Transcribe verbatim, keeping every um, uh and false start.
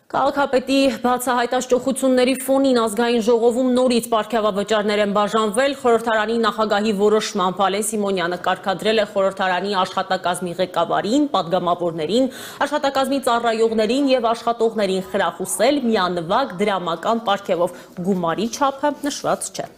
Քաղաքապետի բացահայտ աջակցությունների ֆոնին ազգային ժողովում նորից պարգևավճարներ են բաժանվել, խորհրդարանի նախագահի որոշմամբ Ալեն Սիմոնյանը կարգադրել է խորհրդարանի աշխատակազմի ղեկավարին, պատգամավորներին, աշխատակազմի ծառայողներին և աշխատողներին խրախուսել միանվագ դրամական պարգևով, գումարի չափը նշված չէ։